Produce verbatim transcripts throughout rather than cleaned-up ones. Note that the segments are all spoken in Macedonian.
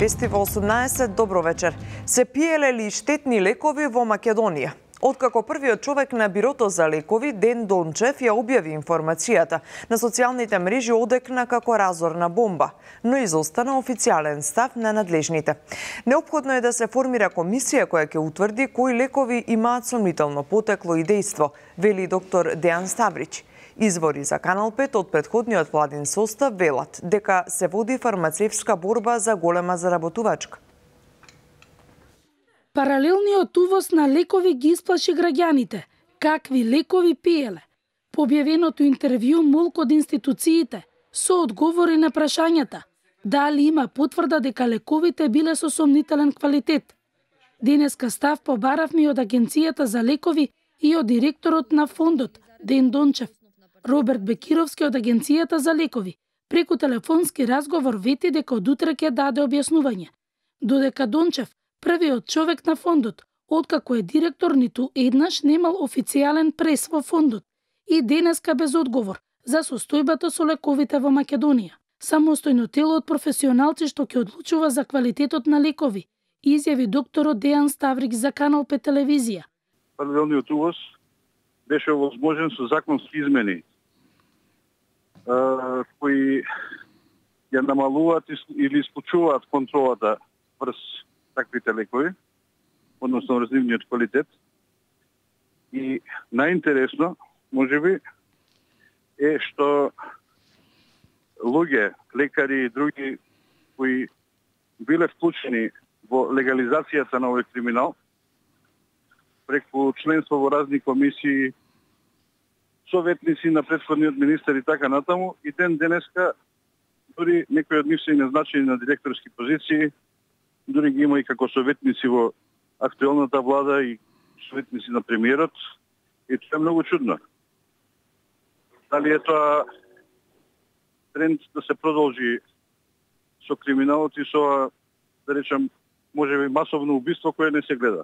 Вести во осумнаесет, добро вечер. Се пиеле ли штетни лекови во Македонија? Откако првиот човек на бирото за лекови, Ден Дончев, ја објави информацијата, на социјалните мрежи одекна како разорна бомба, но изостана официјален став на надлежните. Неопходно е да се формира комисија која ќе утврди кои лекови имаат сомнително потекло и дејство, вели доктор Дејан Ставрич. Извори за Канал пет од претходниот владин состав велат дека се води фармацевска борба за голема заработувачка. Паралелниот увоз на лекови ги исплаши граѓаните. Какви лекови пиеле? По објавеното интервју молк од институциите со одговори на прашањата дали има потврда дека лековите биле со сомнителен квалитет. Денеска став побаравме од Агенцијата за лекови и од директорот на фондот Ден Дончев. Роберт Бекировски од Агенцијата за лекови преку телефонски разговор вети дека од утре ќе даде објаснување. Додека Дончев, првиот човек на фондот, откако е директор, ниту еднаш немал официјален прес во фондот и денеска без одговор за состојбата со лековите во Македонија. Самостојно тело од професионалци што ќе одлучува за квалитетот на лекови, изјави докторот Дејан Ставрик за Канал пет телевизија. Паралелниот увоз беше овозможен со законски измени кои ја намалуваат или исклучуваат контролата врз таквите лекови, односно разливниот квалитет. И најинтересно, можеби, е што луѓе, лекари и други кои биле вклучени во легализацијата на овој криминал, преку членство во разни комисии, советници на претходниот министер и така натаму, и ден денеска дури некои од нив се назначени на директорски позиции, дури ги има и како советници во актуелната влада и советници на премиерот, и тоа е многу чудно. Дали е тоа тренд да се продолжи со криминалот и со, да речем, можеби масовно убиство кое не се гледа.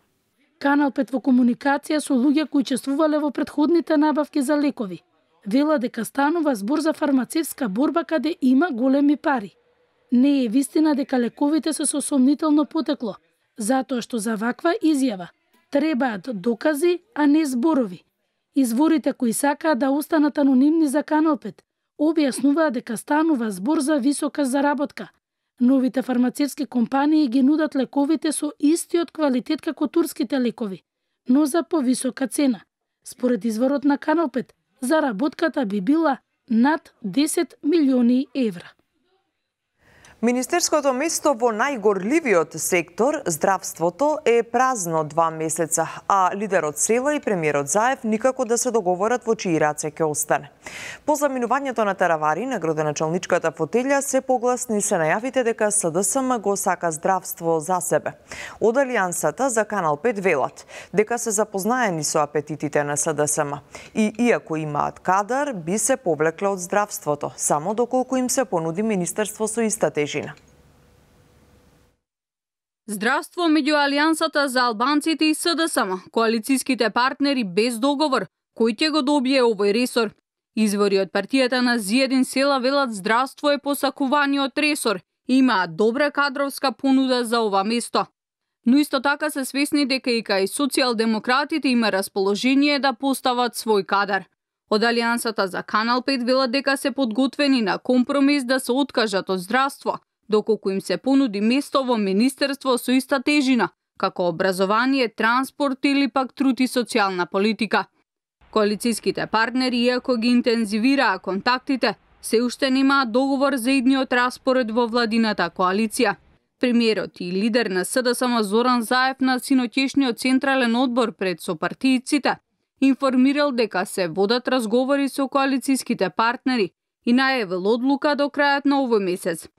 Канал пет во комуникација со луѓе кои учествувале во претходните набавки за лекови вела дека станува збор за фармацевска борба каде има големи пари. Не е вистина дека лековите се со сомнително потекло, затоа што за ваква изјава требаат докази, а не зборови. Изворите кои сакаат да останат анонимни за Канал пет објаснуваат дека станува збор за висока заработка. Новите фармацевски компании ги нудат лековите со истиот квалитет како турските лекови, но за повисока цена. Според изворот на Канал пет, заработката би била над десет милиони евра. Министерското место во најгорливиот сектор, здравството, е празно два месеца, а лидерот Села и премиерот Заев никако да се договорат во чии раце ќе остане. По заминувањето на Таравари на градоначалничката фотелја се погласни се најавите дека СДСМ го сака здравство за себе. Од Алијансата за Канал пет велат дека се запознаени со апетитите на СДСМ и иако имаат кадар, би се повлекле од здравството, само доколку им се понуди министерство со иста тежина. Здравство меѓу Алијансата за албанците и СДСМ, коалициските партнери без договор, кој ќе го добие овој ресор. Извори од партијата на Зиедин Села велат здравство е посакуваниот ресор и имаат добра кадровска понуда за ова место. Но исто така се свесни дека и кај социјалдемократите има расположение да постават свој кадар. Од Алијансата за Канал пет велат дека се подготвени на компромис да се откажат од здравство, доколку им се понуди место во министерство со иста тежина, како образование, транспорт или пак труд и социјална политика. Коалициските партнери, иако ги интензивираа контактите, се уште немаат договор за идниот распоред во владината коалиција. Премиерот и лидер на СДСМ Зоран Заев на синоќешниот централен одбор пред сопартијците информирал дека се водат разговори со коалициските партнери и најавил одлука до крајот на овој месец.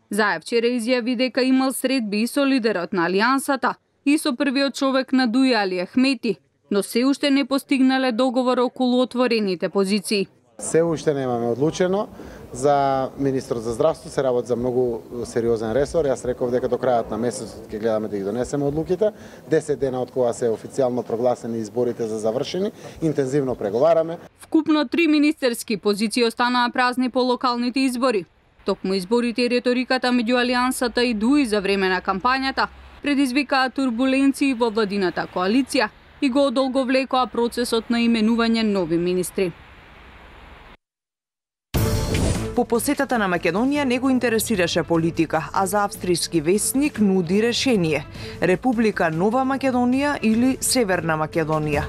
Заев вчера изјави дека имал средби и со лидерот на Алијансата и со првиот човек на Дуј Али Ахмети, но се уште не постигнале договор околу отворените позиции. Се уште немаме одлучено. За министрот за здравство се работи за многу сериозен ресор. Јас реков дека до крајот на месецот ќе гледаме да ги донесеме одлуките. десет дена од кога се официјално прогласени изборите за завршени, интензивно преговараме. Вкупно три министерски позиции останаа празни по локалните избори. Токму изборите и реториката меѓу Алијансата и ДУИ за време на кампањата предизвикаа турбуленции во владината коалиција и го одолговлекоа процесот на именување нови министри. По посетата на Македонија не го интересираше политика, а за австријски весник нуди решение: Република Нова Македонија или Северна Македонија.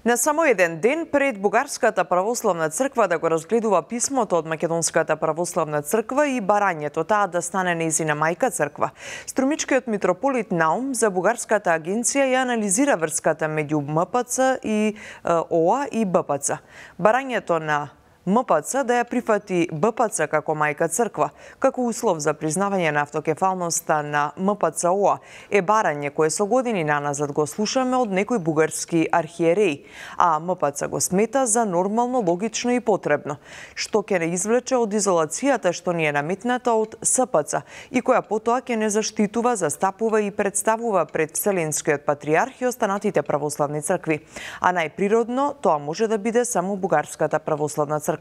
На само еден ден пред Бугарската православна црква да го разгледува писмото од Македонската православна црква и барањето таа да стане нејзина мајка црква, струмичкиот митрополит Наум за Бугарската агенција ја анализира врската меѓу М П Ц и О А и Б П Ц. Барањето на М П Ц да ја прифати Б П Ц како мајка црква, како услов за признавање на автокефалноста на М П Ц О А е барање кое со години наназад го слушаме од некој бугарски архиереи, а М П Ц го смета за нормално, логично и потребно, што ќе не извлече од изолацијата што ни е наметната од С П Ц и која потоа ќе не заштитува, застапува и представува пред Вселенскиот патриарх и останатите православни цркви. А најприродно тоа може да биде само Бугарската православна црква.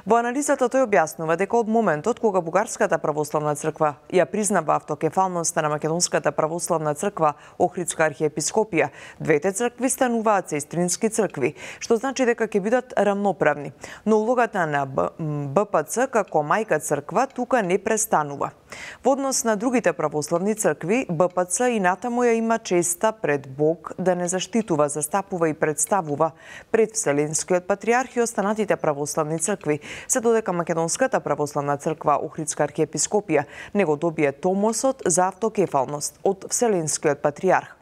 Во анализата тој објаснува дека од моментот кога Бугарската православна црква ја признава автокефалноста на Македонската православна црква Охридска архиепископија, двете цркви стануваат сестрински цркви, што значи дека ќе бидат рамноправни. Но улогата на Б П Ц како мајка црква тука не престанува. Во однос на другите православни цркви, Б П Ц и натаму ја има честа пред Бог да не заштитува, застапува и представува пред Вселенскиот патриарх и останатите православни цркви, се додека Македонската православна црква Охридска архиепископија не го добие томосот за автокефалност од Вселенскиот патриарх.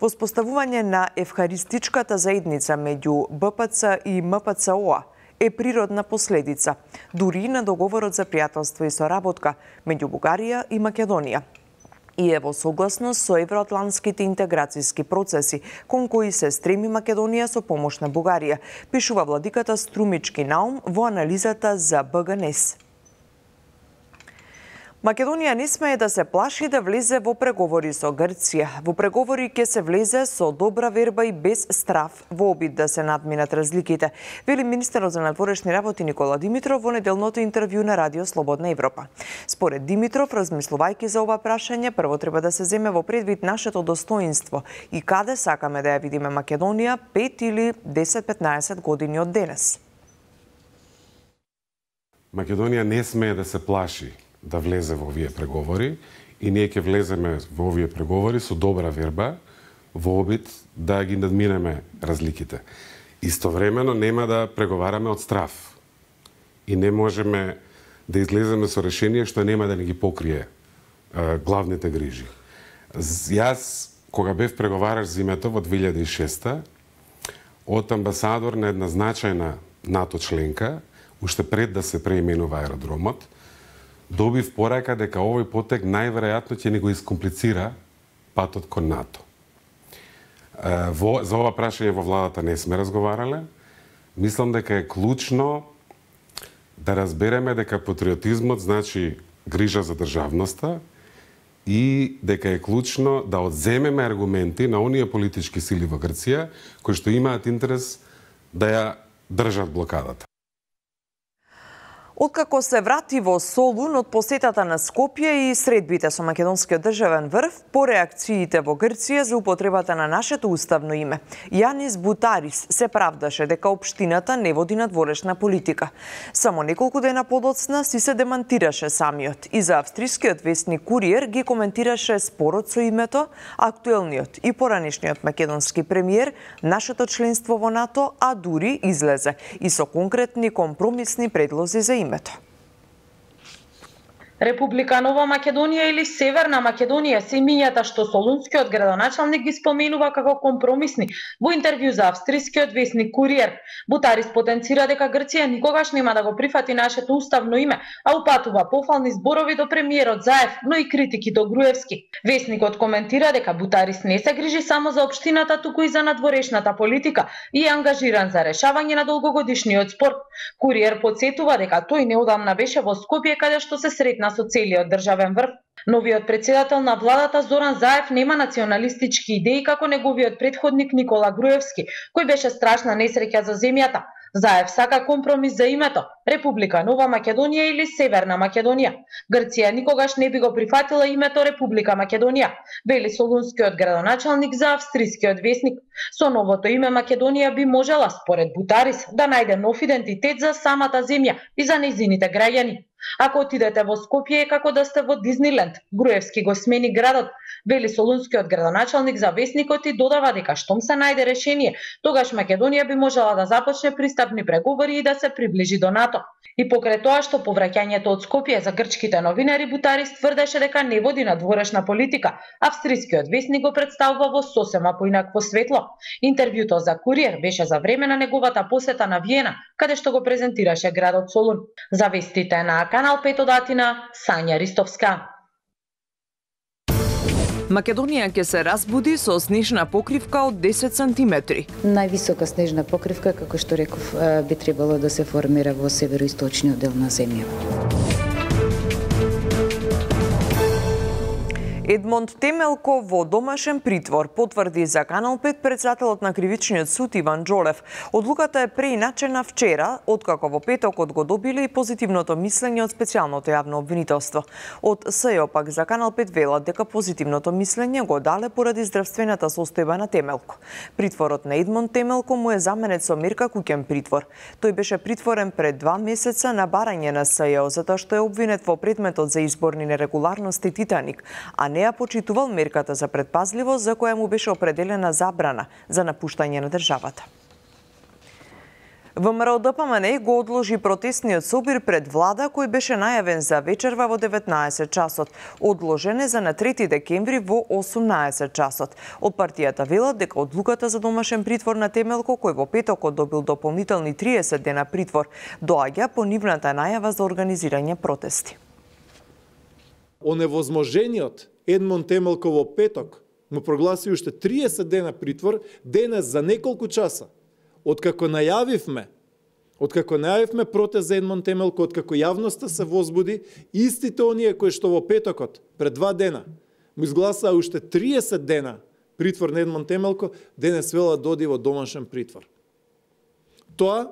Воспоставување на евхаристичката заедница меѓу Б П Ц и М П Ц О А е природна последица, дури на договорот за пријателство и соработка меѓу Бугарија и Македонија. И е во согласност со евроатлантските интеграцијски процеси, кон кои се стреми Македонија со помош на Бугарија, пишува владиката Струмички Наум во анализата за Б Г Н Е С. Македонија не смее да се плаши да влезе во преговори со Грција. Во преговори ќе се влезе со добра верба и без страф во обид да се надминат разликите, вели министерот за надворешни работи Никола Димитров во неделното интервју на Радио Слободна Европа. Според Димитров, размислувајќи за ова прашање, прво треба да се земе во предвид нашето достоинство и каде сакаме да ја видиме Македонија пет или десет-петнаесет години од денес. Македонија не смее да се плаши да влезе во овие преговори и ние ќе влеземе во овие преговори со добра верба во обид да ги надминеме разликите. Истовремено нема да преговараме од страф и не можеме да излеземе со решение што нема да ни ги покрие е, главните грижи. Јас, кога бев преговараш зимето во две илјади и шеста, од амбасадор на една значајна НАТО членка, уште пред да се преименува аеродромот, добив порака дека овој потек најверојатно ќе ни го искомплицира патот кон НАТО. Во, за ова прашање во владата не сме разговарале. Мислам дека е клучно да разбереме дека патриотизмот значи грижа за државноста и дека е клучно да одземеме аргументи на оние политички сили во Грција кои што имаат интерес да ја држат блокадата. Откако се врати во Солун од посетата на Скопје и средбите со македонскиот државен врв, по реакциите во Грција за употребата на нашето уставно име, Јанис Бутарис се правдаше дека општината не води надворешна политика. Само неколку дена подоцна си се демантираше самиот и за австрискиот весник Куриер ги коментираше спорот со името, актуелниот и поранешниот македонски премиер, нашето членство во НАТО, а дури излезе и со конкретни компромисни предлози за името. Република Нова Македонија или Северна Македонија се имињата што солунскиот градоначалник ги споменува како компромисни во интервју за австрискиот весник Куриер. Бутарис потенцира дека Грција никогаш нема да го прифати нашето уставно име, а упатува пофални зборови до премиерот Заев, но и критики до Груевски. Весникот коментира дека Бутарис не се грижи само за општината, туку и за надворешната политика и е ангажиран за решавање на долгогодишниот спор. Куриер подсетува дека тој неодамна беше во Скопје каде што се сретна со целиот државен врв. Новиот председател на владата Зоран Заев нема националистички идеи како неговиот претходник Никола Груевски, кој беше страшна несреќа за земјата. Заев сака компромис за името Република Нова Македонија или Северна Македонија. Грција никогаш не би го прифатила името Република Македонија, вели солунскиот градоначалник за австрискиот весник. Со новото име Македонија би можела, според Бутарис, да најде нов идентитет за самата земја и за нејзините граѓани. Ако отидете во Скопје е како да сте во Дизниленд, Груевски го смени градот, вели солунскиот градоначалник за весникот и додава дека штом се најде решение, тогаш Македонија би можела да започне пристапни преговори и да се приближи до НАТО. И покрај тоа што повраќањето од Скопје за грчките новинари, Бутарис тврдеше дека не води надворешна политика. Австрискиот весник го представува во сосема поинакво светло. Интервјуто за Куриер беше за време на неговата посета на Виена, каде што го презентираше градот Солун. За вестите на Канал пет од Атина, Сања Ристовска. Македонија ќе се разбуди со снежна покривка од десет сантиметри. Највисока снежна покривка, како што реков, би требало да се формира во североисточниот дел на земјата. Едмонд Темелко во домашен притвор, потврди за Канал пет председателот на Кривичниот суд Иван Џолев. Одлуката е преиначена вчера, откако во петокот го добиле и позитивното мислење од специјалното јавно обвинителство. Од СЈО пак за Канал пет велат дека позитивното мислење го дале поради здравствената состојба на Темелко. Притворот на Едмонд Темелко му е заменет со мерка куќен притвор. Тој беше притворен пред два месеца на барање на СЈО затоа што е обвинет во предметот за изборни нерегуларности Титаник, а не ја почитувал мерката за предпазливост за која му беше определена забрана за напуштање на државата. ВМРО Д П М Н го одложи протестниот собир пред влада кој беше најавен за вечерва во деветнаесет часот. Одложен е за на трети декември во осумнаесет часот. Од партијата велат дека одлуката за домашен притвор на Темелко, кој во петокот добил дополнителни триесет дена притвор, доаѓа по нивната најава за организирање протести. Оневозможениот Едмонд Темелко во петок му прогласи уште триесет дена притвор, денес за неколку часа. Откако најавивме, откако најавивме протест за Едмонд Темелко, откако јавноста се возбуди, истите оние кои што во петокот, пред два дена, му изгласаа уште триесет дена притвор на Едмонд Темелко, денес велат да оди во домашен притвор. Тоа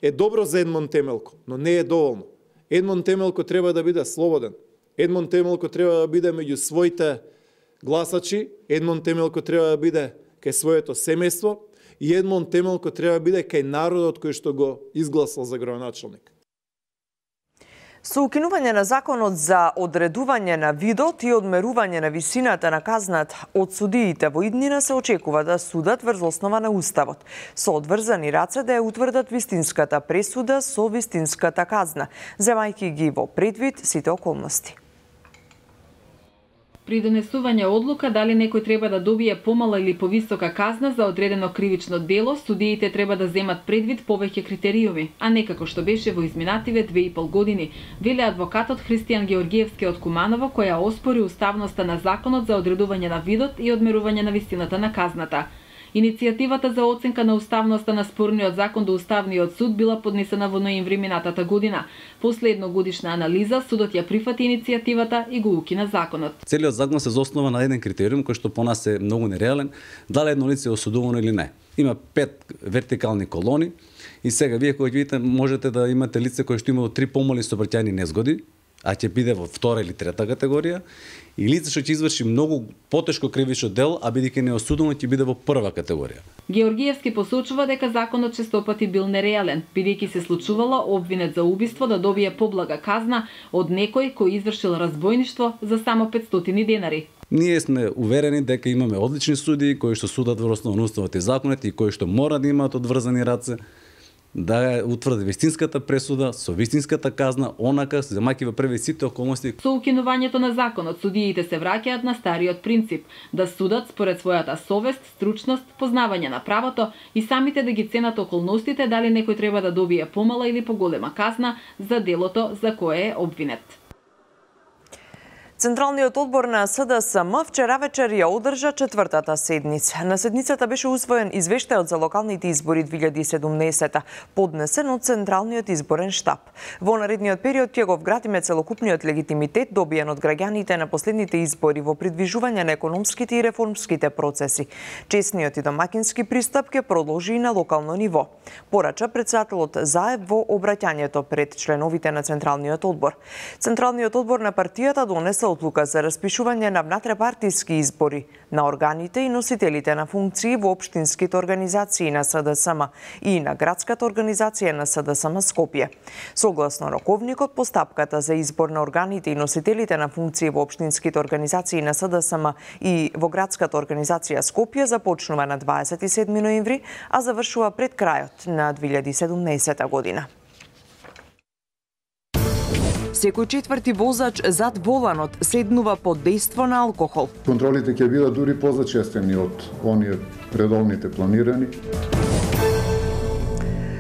е добро за Едмонд Темелко, но не е доволно. Едмонд Темелко треба да биде слободен. Едмонд Темелко треба да биде меѓу своите гласачи, Едмонд Темелко треба да биде кај своето семејство и Едмонд Темелко треба да биде кај народот кој што го изгласал за градоначалник. Со укинување на законот за одредување на видот и одмерување на висината на казната од судиите во иднина се очекува да судат врз основа на Уставот, со одврзани раце да ја утврдат вистинската пресуда со вистинската казна, земајќи ги во предвид сите околности. При донесување одлука дали некој треба да добие помала или повисока казна за одредено кривично дело, судиите треба да земат предвид повеќе критериуми, а не како што беше во изминативе две и пол години, вели адвокатот Христијан Георгиевски од Куманово, која оспори уставноста на законот за одредување на видот и одмерување на висината на казната. Иницијативата за оценка на уставноста на спорниот закон до Уставниот суд била поднесена во ноември минатата година. Последно годишна анализа, судот ја прифати иницијативата и го укина законот. Целиот закон се заоснова на еден критериум кој што по нас е многу нереален, дали едно лице е осудувано или не. Има пет вертикални колони и сега вие кој видите можете да имате лице кој што имало три помали сообраќајни незгоди, а ќе биде во втора или трета категорија, и лице што ќе изврши многу потешко кривично дело, а бидејќи не осудено ќе биде во прва категорија. Георгиевски посочува дека законот честопати бил нереален, бидејќи се случувало обвинет за убиство да добие поблага казна од некој кој извршил разбојништво за само петстотини денари. Ние сме уверени дека имаме одлични судии кои што судат во основа на уставот и законот и кои што мора да имаат одврзани раце, да утврди вистинската пресуда со вистинската казна, онака земајќи во први сите околности. Со укинувањето на законот, судиите се враќаат на стариот принцип да судат според својата совест, стручност, познавање на правото и самите да ги ценат околностите дали некој треба да добие помала или поголема казна за делото за кое е обвинет. Централниот одбор на С Д С М вчера вечер ја одржа четвртата седница. На седницата беше усвоен извештајот за локалните избори две илјади и седумнаесета, поднесен од Централниот изборен штаб. Во наредниот период ќе го вградиме целокупниот легитимитет добиен од граѓаните на последните избори во придвижување на економските и реформските процеси. Честниот и домакински пристап ќе продолжи и на локално ниво, порача претседателот Заев во обраќањето пред членовите на Централниот одбор. Централниот одбор на партијата донесе одлука за распишување на внатрепартиски избори на органите и носителите на функции во општинските организации на С Д С М и на градската организација на С Д С М Скопје. Согласно роковникот, постапката за избор на органите и носителите на функции во општинските организации на С Д С М и во градската организација Скопје започнува на дваесет и седми ноември, а завршува пред крајот на две илјади и седумнаесета година. Секој четврти возач зад воланот седнува под дејство на алкохол. Контролите ќе бидат дури позачестени од оние редовните планирани.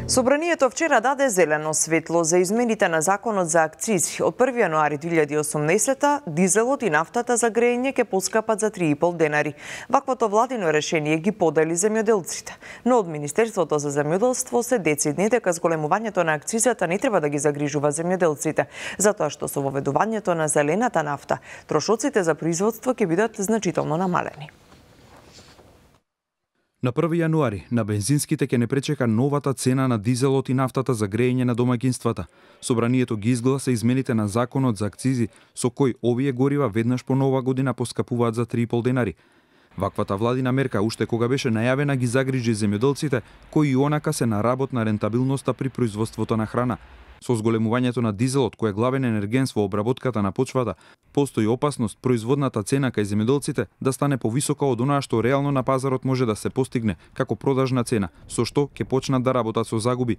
Собранието вчера даде зелено светло за измените на законот за акцизи. Од први јануари две илјади и осумнаесета дизелот и нафтата за грејење ќе поскапат за три и пол денари. Ваквото владино решение ги подели земјоделците. Но од Министерството за земјоделство се децидни дека зголемувањето на акцизата не треба да ги загрижува земјоделците, затоа што со воведувањето на зелената нафта, трошоците за производство ќе бидат значително намалени. На први јануари на бензинските ќе не пречека новата цена на дизелот и нафтата за грејење на домаќинствата. Собранието ги изгласа измените на законот за акцизи, со кој овие горива веднаш по нова година поскапуваат за три и пол денари. Ваквата владина мерка, уште кога беше најавена, ги загрижи земјоделците, кои и онака се на работ на рентабилноста при производството на храна. Со зголемувањето на дизелот, кој е главен енергенс во обработката на почвата, постои опасност производната цена кај земјоделците да стане повисока од онаа што реално на пазарот може да се постигне како продажна цена, со што ќе почнат да работат со загуби.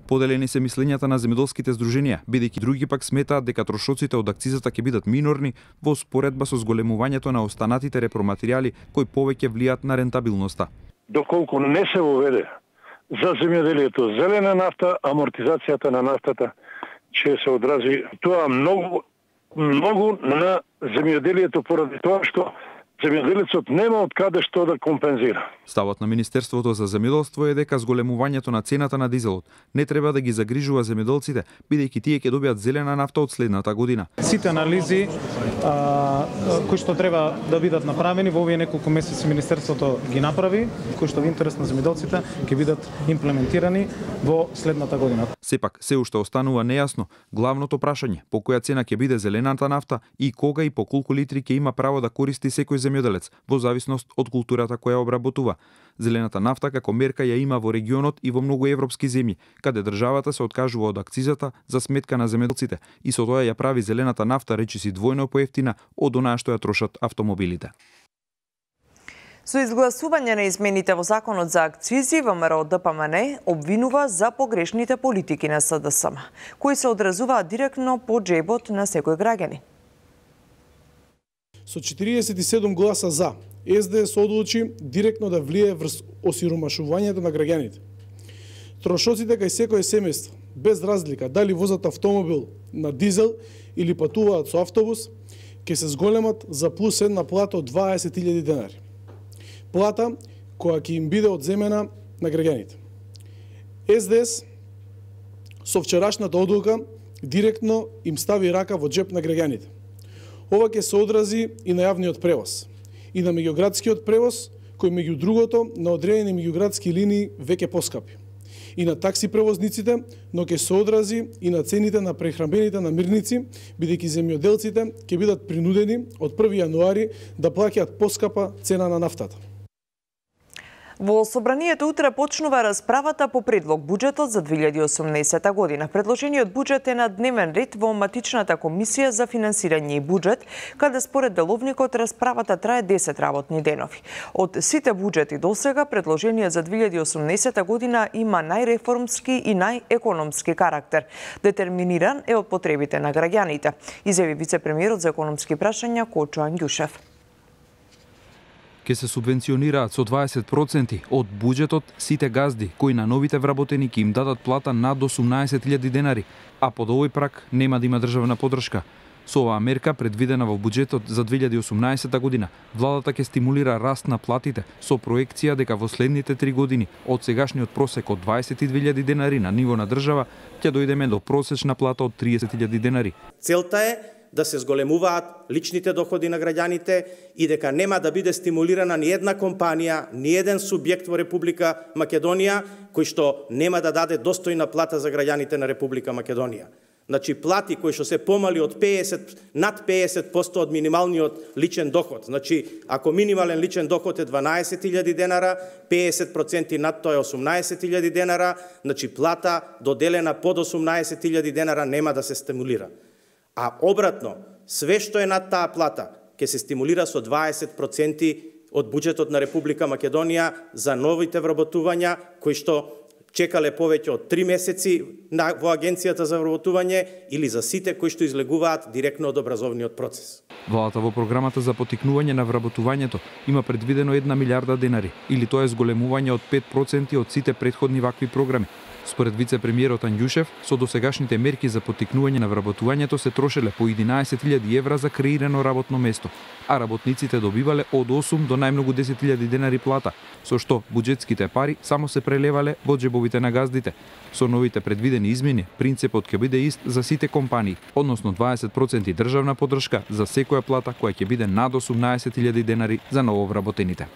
Поделени се мислењата на земјоделските здруженија, бидејќи други пак сметаат дека трошоците од акцизата ќе бидат минорни во споредба со зголемувањето на останатите репроматеријали кои повеќе влијат на рентабилноста. Доколку не се воведе за земјоделието зелена нафта, амортизацијата на нафтата ќе се одрази тоа многу многу на земјоделието поради тоа што земјоделецот нема од каде што да компензира. Ставот на Министерството за земјоделство е дека зголемувањето на цената на дизелот не треба да ги загрижува земјоделците, бидејќи тие ќе добијат зелена нафта од следната година. Сите анализи а, кои што треба да бидат направени во овие неколку месеци Министерството ги направи, кои што во интерес на земјоделците ќе бидат имплементирани во следната година. Сепак се уште останува нејасно главното прашање по која цена ќе биде зелената нафта и кога и по колку литри ќе има право да користи секој земјоделец во зависност од културата која обработува. Зелената нафта како мерка ја има во регионот и во многу европски земји, каде државата се откажува од акцизата за сметка на земјоделците и со тоа ја прави зелената нафта речиси двојно поевтина од онаа што ја трошат автомобилите. Со изгласување на измените во законот за акцизи, ВМРО Д П М Н обвинува за погрешните политики на С Д С М, кои се одразуваат директно по џебот на секој граѓанин. Со четириесет и седум гласа за, С Д С одлучи директно да влие врз осиромашувањето на граѓаните. Трошоците кај секое семејство, без разлика дали возат автомобил на дизел или патуваат со автобус, ќе се зголемат за плюс една плата од дваесет илјади денари. Плата која ќе им биде одземена на граѓаните. С Д С со вчерашната одлука директно им стави рака во џеп на граѓаните. Ова ќе се одрази и на јавниот превоз, и на меѓуградскиот превоз, кој меѓу другото на одредени меѓуградски линии веќе поскапи, и на такси превозниците, но ќе се одрази и на цените на прехранбените намирници, бидејќи земјоделците ќе бидат принудени од први јануари да плаќаат поскапа цена на нафтата. Во собранието утре почнува расправата по предлог буџетот за две илјади и осумнаесета година. Предложениот буџет е на дневен ред во матичната комисија за финансирање и буџет, каде според деловникот расправата трае десет работни денови. Од сите буџети досега, предложениот за две илјади и осумнаесета година има најреформски и најекономски карактер. Детерминиран е од потребите на граѓаните, изјави вице-премиерот за економски прашања Кочо Ангјушев. Ке се субвенционираат со дваесет проценти од буџетот сите газди кои на новите вработени ќе им дадат плата над осумнаесет илјади денари, а под овој прак нема да има државна поддршка. Со оваа мерка, предвидена во буџетот за две илјади и осумнаесета година, владата ќе стимулира раст на платите со проекција дека во следните три години од сегашниот просек од дваесет и две илјади денари на ниво на држава ќе дојдеме до просечна плата од триесет илјади денари. Целта е да се зголемуваат личните доходи на граѓаните и дека нема да биде стимулирана ни една компанија, ни еден субјект во Република Македонија кој што нема да даде достојна плата за граѓаните на Република Македонија. Значи плати кои што се помали од петдесет над петдесет проценти од минималниот личен доход. Значи ако минимален личен доход е дванаесет илјади денара, петдесет проценти над тоа е осумнаесет илјади денара, значи плата доделена под осумнаесет илјади денара нема да се стимулира. А обратно, све што е над таа плата ќе се стимулира со дваесет проценти од буџетот на Република Македонија за новите вработувања кои што чекале повеќе од три месеци во Агенцијата за вработување или за сите кои што излегуваат директно од образовниот процес. Владата во програмата за поттикнување на вработувањето има предвидено една милиарда денари, или тоа е зголемување од пет проценти од сите претходни вакви програми. Според вице-премиерот Анѓушев, со досегашните мерки за поттикнување на вработувањето се трошеле по единаесет илјади евра за креирано работно место, а работниците добивале од осум до најмногу десет илјади денари плата, со што буџетските пари само се прелевале во џебовите на газдите. Со новите предвидени измени, принципот ќе биде ист за сите компании, односно дваесет проценти државна поддршка за секоја плата која ќе биде над осумнаесет илјади денари за нововработените.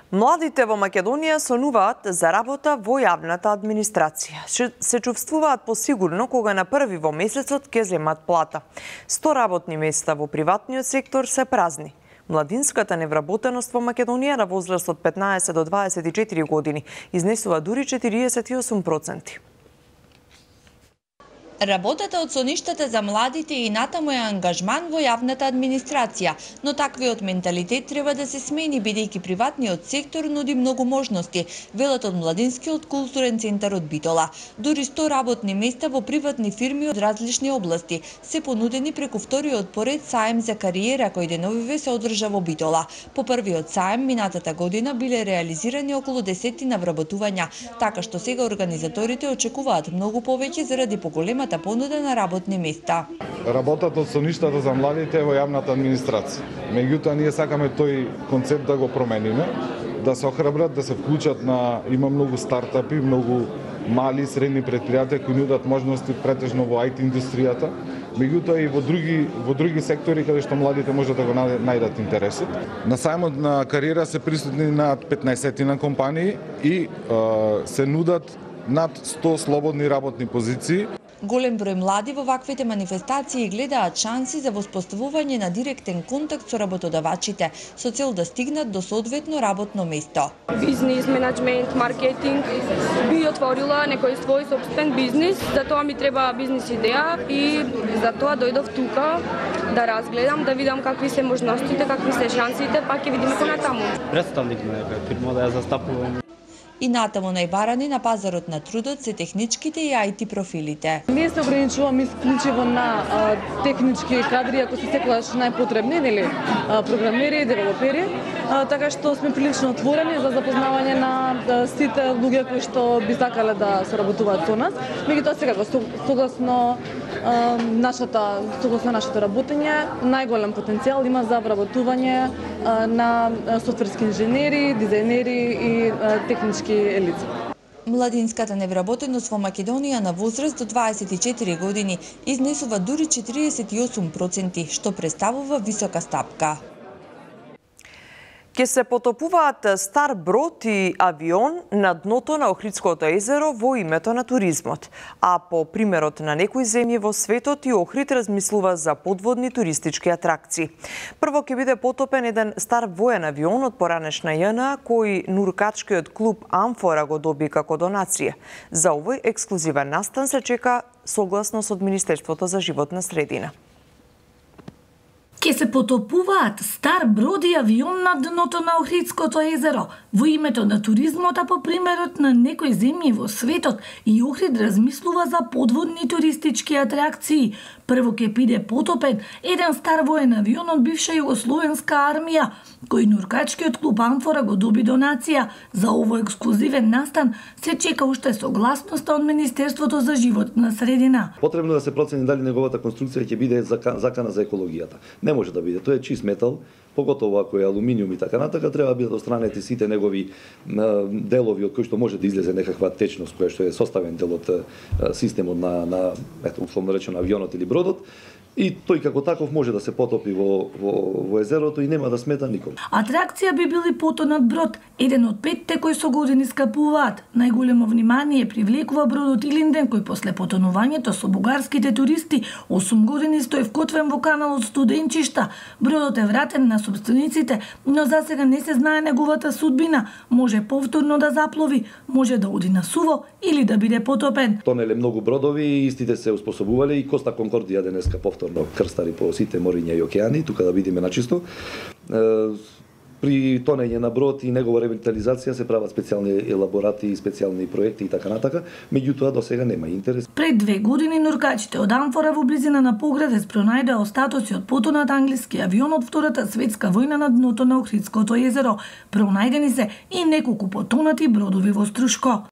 Младите во Македонија сонуваат за работа во јавната администрација. Се чувствуваат посигурно кога на први во месецот ќе земат плата. сто работни места во приватниот сектор се празни. Младинската невработеност во Македонија на возраст од петнаесет до дваесет и четири години изнесува дури четириесет и осум проценти. Работата од соништата за младите и натаму е ангажман во јавната администрација, но таквиот менталитет треба да се смени бидејќи приватниот сектор нуди многу можности, велат од Младинскиот културен центар од Битола. Дури сто работни места во приватни фирми од различни области се понудени преку вториот поред саем за кариера кој деновиве се одржа во Битола. По првиот саем минатата година биле реализирани околу десетина вработувања, така што сега организаторите очекуваат многу повеќе заради поголемата понуда на работни места. Работат од соништата за младите во јавната администрација. Меѓутоа ние сакаме тој концепт да го промениме, да се охрабрат, да се вклучат на има многу стартапи, многу мали и средни предпријатија кои нудат можности претежно во ай ти индустријата, меѓутоа и во други во други сектори каде што младите можат да го најдат интересот. На сајмот на кариера се присутни над петнаесет компании и е, се нудат над сто слободни работни позиции. Голем број млади во ваквите манифестации гледаат шанси за воспоставување на директен контакт со работодавачите, со цел да стигнат до соодветно работно место. Бизнис, менеджмент, маркетинг, би отворила некој свој собствен бизнис, за тоа ми треба бизнис идеја и за тоа дојдов тука да разгледам, да видам какви се можностите, какви се шансите, па ќе видиме понатаму. Представник на некоја фирма да ја застапувам. И натаму најбарани на пазарот на трудот се техничките и ай ти профилите. Не се ограничувам исклучиво на а, технички кадри, ако се секогаш најпотребни, нели, а, програмери, девелопери, а, така што сме прилично отворени за запознавање на а, сите луѓе кои што би сакале да соработуваат со нас. Меѓутоа сега согласно а, нашата согласно нашето работење, најголем потенцијал има за вработување а, на софтверски инженери, дизајнери и а, технички елица. Младинската невработеност во Македонија на возраст до дваесет и четири години изнесува дури четириесет и осум проценти, што представува висока стапка. Ке се потопуваат стар брод и авион на дното на Охридското езеро во името на туризмот. А по примерот на некои земји во светот и Охрид размислува за подводни туристички атракции. Прво ќе биде потопен еден стар воен авион од поранешна Ја Н А кој нуркачкиот клуб Амфора го доби како донација. За овој ексклузивен настан се чека согласност од Министерството за животна средина. Ке се потопуваат стар брод и авион на дното на Охридското езеро. Во името на туризмот, а по примерот на некои земји во светот, и Охрид размислува за подводни туристички атракции. Прво ке биде потопен еден стар воен авион од бивша југословенска армија, кој нуркачкиот клуб Амфора го доби донација. За овој ексклузивен настан се чека уште согласноста од Министерството за животна средина. Потребно да се процени дали неговата конструкција ќе биде закана за екологијата. Не може да биде, тоа е чист метал, поготово ако е алуминиум и така натака, треба да бидат отстранети сите негови делови од кои што може да излезе некаква течност која што е составен дел од системот на на ето условно речено авионот или бродот. И тој како таков може да се потопи во, во, во езерото и нема да смета никому. Атракција би били потонат брод, еден од петте кои со години скапуваат. Најголемо внимание привлекува бродот Илинден, кој после потонувањето со бугарските туристи осум години стои вкотвен во каналот Студенчишта. Бродот е вратен на собствениците, но засега не се знае неговата судбина. Може повторно да заплови, може да оди на суво или да биде потопен. Тонеле многу бродови и истите се успособувале и Коста Конкордија денеска повторно крстари по сите мориња и океани, тука да видиме начисто. При тонење на брод и негова ревитализација се прават специјални елаборати и специјални проекти и така натака, меѓутоа до сега нема интерес. Пред две години нуркачите од Амфора во близина на Поградец пронајдоа остатоци од потонат англиски авион од Втората светска војна на дното на Охридското езеро. Пронајдени се и неколку потонати бродови во Струшко.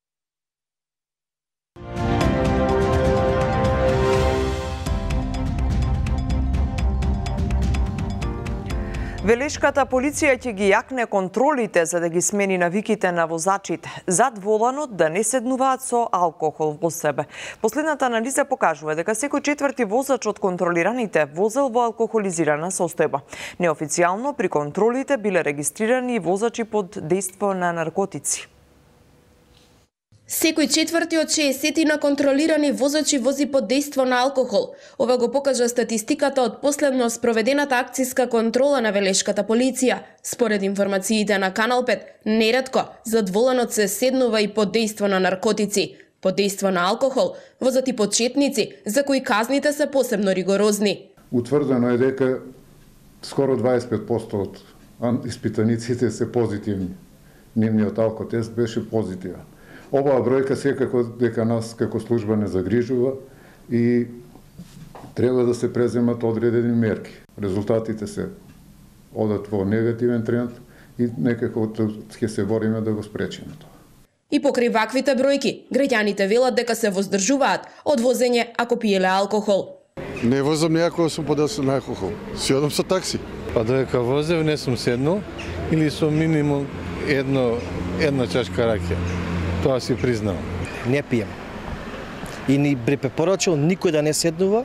Велешката полиција ќе ги јакне контролите за да ги смени навиките на возачите зад воланот да не седнуваат со алкохол во себе. Последната анализа покажува дека секој четврти возач од контролираните возел во алкохолизирана состојба. Неофицијално при контролите биле регистрирани и возачи под дејство на наркотици. Секој четврти од шеесет на контролирани возачи вози под дејство на алкохол. Ова го покажа статистиката од последно спроведената акцијска контрола на Велешката полиција. Според информациите на Канал пет, неретко зад воланот се седнува и под дејство на наркотици. Под дејство на алкохол возат и почетници, за кои казните се посебно ригорозни. Утврдено е дека скоро дваесет и пет проценти од испитаниците се позитивни. Нивниот алкотест беше позитивен. Оваа бројка секако дека нас како служба не загрижува и треба да се преземат одредени мерки. Резултатите се одат во негативен тренд и некако ќе се бориме да го спречиме тоа. И покрај ваквите бројки, граѓаните велат дека се воздржуваат од возење ако пиеле алкохол. Не возам неако сум под дејството на алкохол. Си одам со такси. Па додека возев не сум седнал или со минимум едно една чашка ракија. Тоа си признавам. Не пием. И ни препорачал никој да не седнува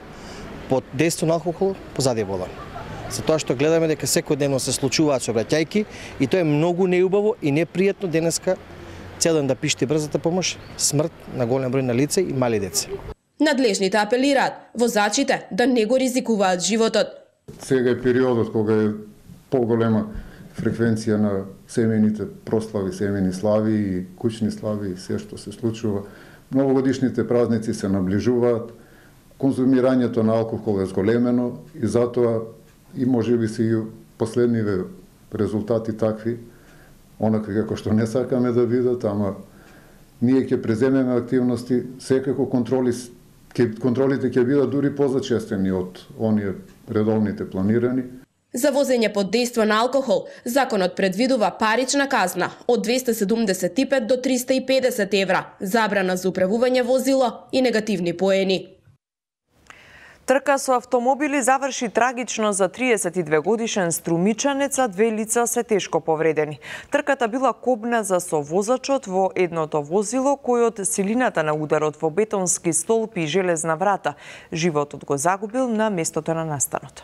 под дејство на алкохол позади волан. Затоа што гледаме дека секојдневно се случуваат сообраќајки и тоа е многу неубаво и непријатно денеска цел ден да пишти брзата помош, смрт на голем број на лица и мали деца. Надлежните апелираат возачите да не го ризикуваат животот. Сега е периодот кога е поголема фреквенција на семејните прослави, семејни слави и куќни слави и се што се случува. Новогодишните празници се наближуваат, конзумирањето на алкохол е зголемено и затоа и можеби се и последниве резултати такви, онакви како што не сакаме да бидат, ама ние ќе преземеме активности, секако контроли, ке, контролите ќе бидат дури позачестени од оние редовните планирани. За возење под дејство на алкохол, законот предвидува парична казна од двесте седумдесет и пет до триста и педесет евра, забрана за управување возило и негативни поени. Трка со автомобили заврши трагично за триесет и две годишен струмичанец, а две лица се тешко повредени. Трката била кобна за совозачот во едното возило, кој од силината на ударот во бетонски столб и железна врата животот го загубил на местото на настанот.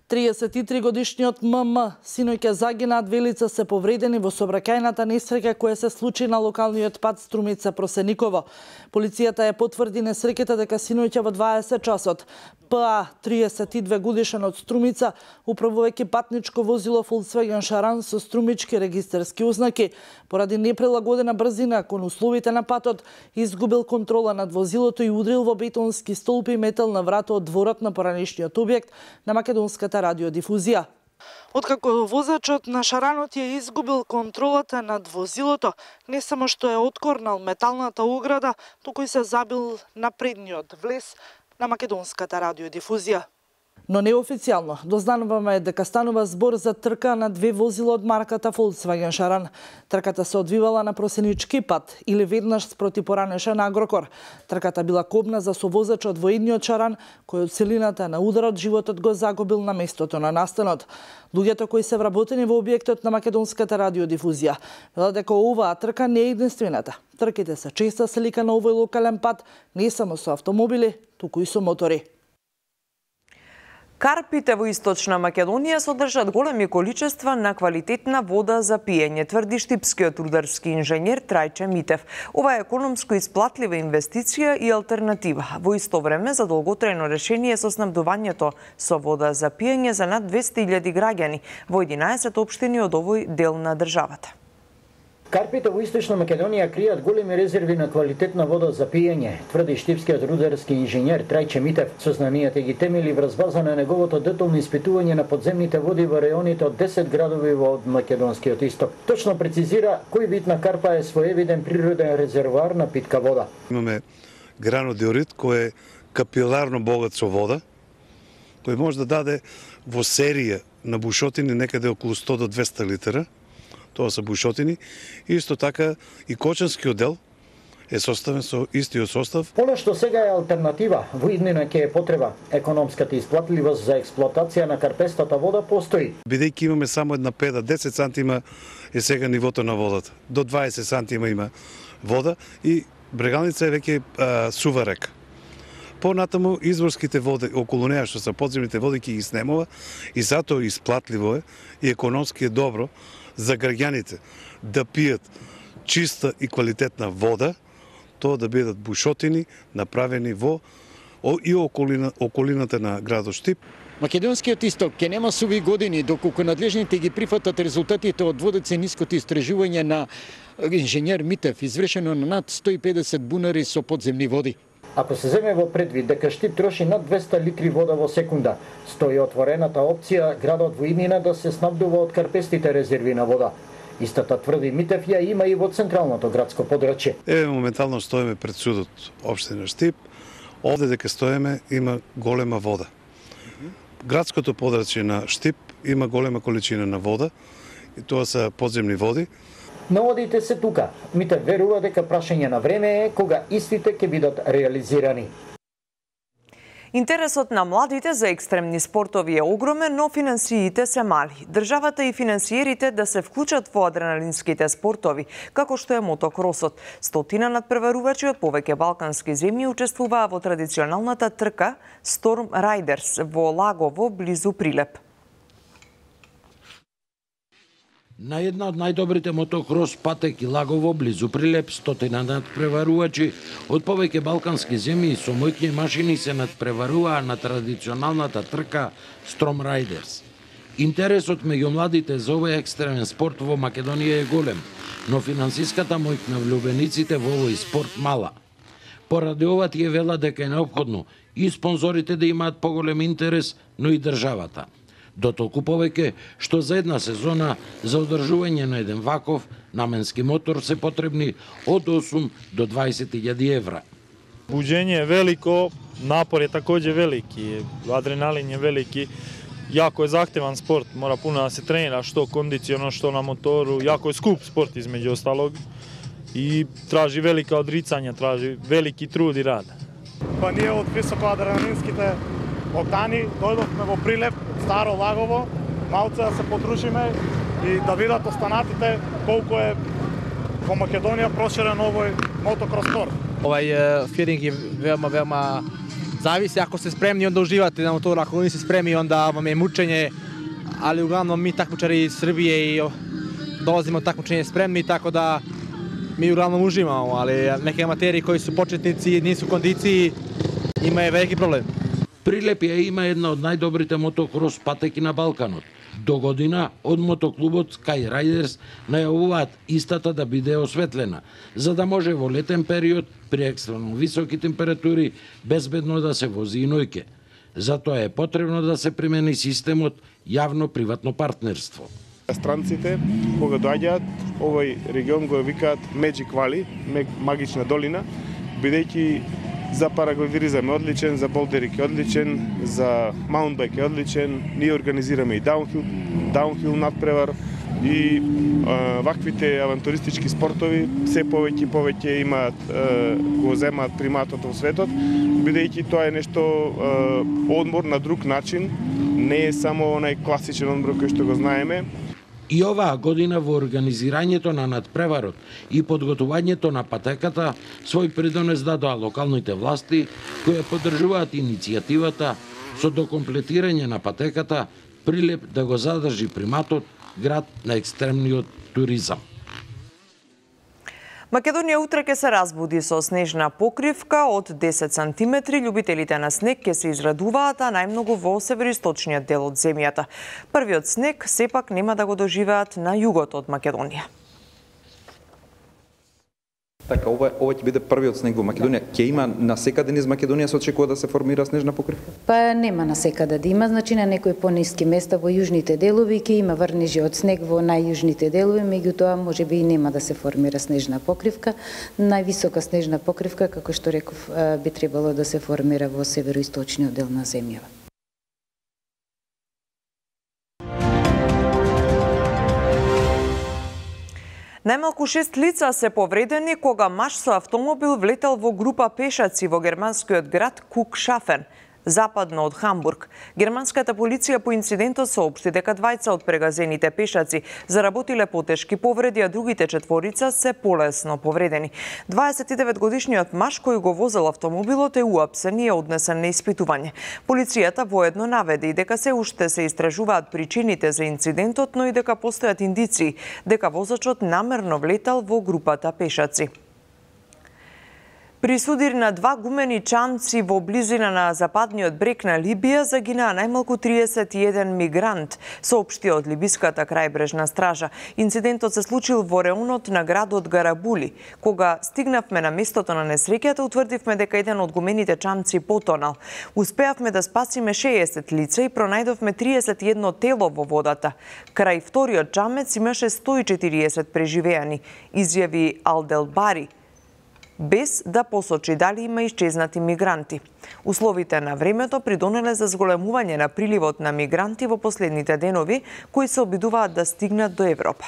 триесет и три годишниот М М синоќа загина, две лица се повредени во сообраќајната несреќа која се случи на локалниот пат Струмица Просениково. Полицијата ја потврди несреќата дека синоќа во дваесет часот П А, триесет и две годишен од Струмица, управувајќи патничко возило Volkswagen Шаран со струмички регистарски ознаки, поради неприлагодена брзина кон условите на патот, изгубил контрола над возилото и удрил во бетонски столпи и метал на врата од дворот на поранешниот објект на македонската радиодифузија. Откако возачот на Шаранот ја изгубил контролата над возилото, не само што е откорнал металната ограда, туку и се забил на предниот влез на македонската радиодифузија. Но неофицијално дознаваме дека станува збор за трка на две возила од марката Volkswagen Шаран. Трката се одвивала на просенички пат или веднаш спроти поранешен Агрокор. Трката била кобна за совозачот во едниот Шаран, кој од силината на ударот животот го загубил на местото на настанот. Луѓето кои се вработени во објектот на македонската радиодифузија велат дека оваа трка не е единствената. Трките се честа слика на овој локален пат, не само со автомобили, туку и со мотори. Карпите во Источна Македонија содржат големи количества на квалитетна вода за пиење, тврди штипскиот рударски инженер Трајче Митев. Ова е економско исплатлива инвестиција и алтернатива. Во исто време за долготрајно решение со снабдувањето со вода за пиење за над двесте илјади граѓани во единаесет општини од овој дел на државата. Карпите во Источна Македонија кријат големи резерви на квалитетна вода за пиење, тврди штипскиот рударски инженер Трајче Митев. Сознанијата ги темели врз база на неговото детално испитување на подземните води во реоните од десет градови во македонскиот исток. Точно прецизира кој вид на карпа е своевиден природен резервоар на питка вода. Имаме гранодиорит кој е капиларно богат со вода, кој може да даде во серија на бушотини некаде околу сто до двесте литра. Тоа се бушотини. Исто така и Кочанскиот дел е составен со истиот состав. Оно што сега е алтернатива, во иднина ќе е потреба. Економската исплатливост за експлоатација на карпестата вода постои. Бидејќи имаме само една педа, десет сантима е сега нивото на водата. До дваесет сантима има вода и Брегалница е веќе а, сува река. Понатаму изворските води околу неа што се подземните води ќе ги снемува и затоа исплатливо е и економски е добро за граѓаните да пијат чиста и квалитетна вода, тоа да бидат бушотини направени во и околина, околината на градот Штип. Македонскиот исток ќе нема суви години доколку надлежните ги прифатат резултатите од водоцениското истражување на инженер Митев, извршено на над сто и педесет бунари со подземни води. Ако се земе во предвид дека Штип троши над двесте литри вода во секунда, стои отворената опција градот во иднина да се снабдува од карпестите резерви на вода. Истата, тврди Митев, ја има и во централното градско подрачје. Еве моментално стоиме пред судот општина Штип. Овде дека стоиме има голема вода. Градското подрачје на Штип има голема количина на вода и тоа се подземни води. Наводите се тука. Митев верува дека прашање на време е кога истите ќе бидат реализирани. Интересот на младите за екстремни спортови е огромен, но финансиите се мали. Државата и финансиерите да се вклучат во адреналинските спортови, како што е мотокросот. Стотина надпреварувачи од повеќе балкански земји учествуваа во традиционалната трка Storm Riders во Лагово, близу Прилеп. На една од најдобрите мотокрос патеки Лагово, близу Прилеп, стотина надпреварувачи од повеќе балкански земји со моќни машини се надпреваруваа на традиционалната трка Storm Riders. Интересот меѓу младите за овој екстремен спорт во Македонија е голем, но финансиската моќ на влюбениците во овој спорт мала. Поради ова тие велат дека е неопходно и спонзорите да имаат поголем интерес, но и државата. Дотолку повеќе што за една сезона за одржување на еден ваков наменски мотор се потребни од осум до дваесет илјади евра. Буџење е велико, напор е такоđe велики, адреналин е велики. Јако е захтеван спорт, мора пуно да се тренира, што кондиционо, што на мотору, јако е скуп спорт измеѓу осталог и тражи велика одрицања, тражи велики труд и рад. Па ние од високоадреналинските октани дојдовме во Прилеп, Старо Лагово, малце да се подружиме и да видат останатите колку е во Македонија проширен овој мотокрос спорт. Овај филинг е веома, веома зависи, ако сте спремни, онда уживате на мотор, ако не сте спремни, онда вам е мучење, али углавном ми такмичари из Србије и долазиме од такмичење спремни, тако да ми углавном уживамо, али неки аматери кои су почетници и не су кондиции, има е велики проблем. Прилеп ја има една од најдобрите мотокрос патеки на Балканот. До година од мотоклубот Sky Riders најавуваат истата да биде осветлена, за да може во летен период при екстремно високи температури безбедно да се вози и ноќе. Затоа е потребно да се примени системот јавно-приватно партнерство. Странците, кога доаѓаат, овој регион го викаат Magic Valley, магична долина, бидејќи за параглидеризам е одличен, за болдерик е одличен, за маунтбайк е одличен, ние организираме и даунхил, даунхил надпревар и а, ваквите авантуристички спортови се повеќе и повеќе имаат, а, го земаат приматот во светот, бидејќи тоа е нешто а, одмор на друг начин, не е само онај класичен одмор кој што го знаеме. И оваа година во организирањето на надпреварот и подготувањето на патеката свој придонес дадоа локалните власти кои поддржуваат иницијативата со докомплетирање на патеката Прилеп да го задржи приматот град на екстремниот туризам. Македонија утре ќе се разбуди со снежна покривка од десет сантиметри. Љубителите на снег ќе се израдуваат, а најмногу во североисточниот дел од земјата. Првиот снег сепак нема да го доживеат на југот од Македонија. Така, ова, ова ќе биде првиот снег во Македонија. Ќе има насекаде низ Македонија се очекува да се формира снежна покривка? Па нема насекаде да има, значи на некои пониски места во јужните делови ќе има врнежи од снег во најјужните делови, меѓутоа можеби и нема да се формира снежна покривка. Највисока снежна покривка, како што реков, би требало да се формира во североисточниот дел на земјава. Најмалку шест лица се повредени кога маж со автомобил влетел во група пешаци во германскиот град Кукшафен, западно од Хамбург. Германската полиција по инцидентот соопшти дека двајца од прегазените пешаци заработиле потешки повреди, а другите четворица се полесно повредени. дваесет и девет годишниот маж кој го возел автомобилот е уапсен и е однесен на испитување. Полицијата воедно наведе и дека се уште се истражуваат причините за инцидентот, но и дека постојат индиции дека возачот намерно влетал во групата пешаци. При судир на два гумени чамци во близина на западниот брег на Либија загинаа најмалку триесет и еден мигрант, соопшти од либиската крајбрежна стража. Инцидентот се случил во реонот на градот Гарабули. Кога стигнавме на местото на несреќата, утврдивме дека еден од гумените чамци потонал. Успеавме да спасиме шеесет лица и пронајдовме триесет и едно тело во водата. Крај вториот чамец имаше сто и четириесет преживеани, изјави Алделбари, без да посочи дали има исчезнати мигранти. Условите на времето придонеле за зголемување на приливот на мигранти во последните денови, кои се обидуваат да стигнат до Европа.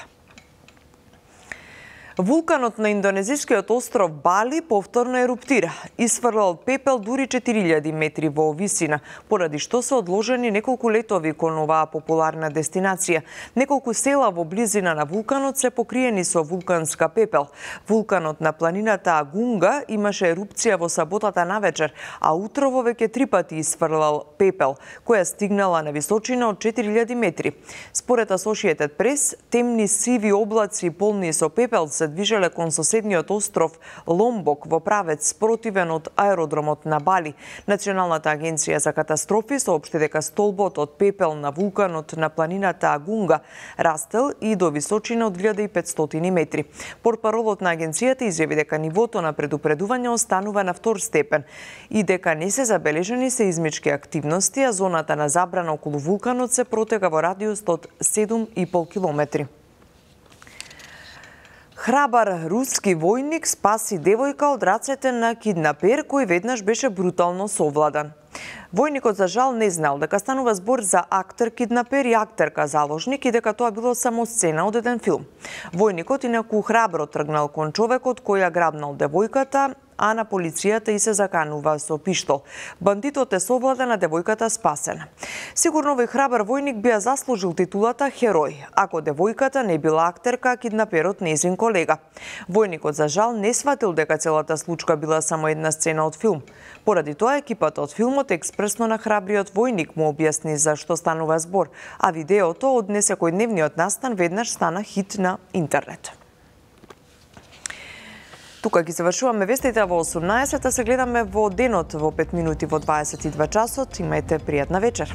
Вулканот на индонезискиот остров Бали повторно еруптира. Исфрлал пепел дури четири илјади метри во висина, поради што се одложени неколку летови кон оваа популарна дестинација. Неколку села во близина на вулканот се покриени со вулканска пепел. Вулканот на планината Агунга имаше ерупција во саботата навечер, а утрово веќе три пати исфрлал пепел, која стигнала на височина од четири илјади метри. Според Associated Press, темни сиви облаци полни со пепел се движеле кон соседниот остров Ломбок во правец спротивен од аеродромот на Бали. Националната агенција за катастрофи соопшти дека столбот од пепел на вулканот на планината Агунга растел и до височина од илјада и петстотини метри. Портпаролот на агенцијата изјави дека нивото на предупредување останува на втор степен и дека не се забележани сеизмички активности, а зоната на забрана околу вулканот се протега во радиус од седум и пол километри. Храбар руски војник спаси девојка од рацете на киднапер кој веднаш беше брутално совладан. Војникот за жал не знал дека станува збор за актер киднапер и актерка заложник и дека тоа било само сцена од еден филм. Војникот инаку храбро тргнал кон човекот кој ја грабнал девојката, а на полицијата и се заканува со пиштол. Бандитот е совладан, а девојката спасена. Сигурно овој храбар војник би ја заслужил титулата херој, ако девојката не била актерка, а киднаперот нејзин колега. Војникот за жал не сватил дека целата случка била само една сцена од филм. Поради тоа екипата од филмот експресно на храбриот војник му објасни за што станува збор, а видеото од несекојдневниот настан веднаш стана хит на интернет. Тука ги завршуваме вестите во осумнаесет, се гледаме во денот во пет минути во дваесет и два часот. Имајте пријатна вечер.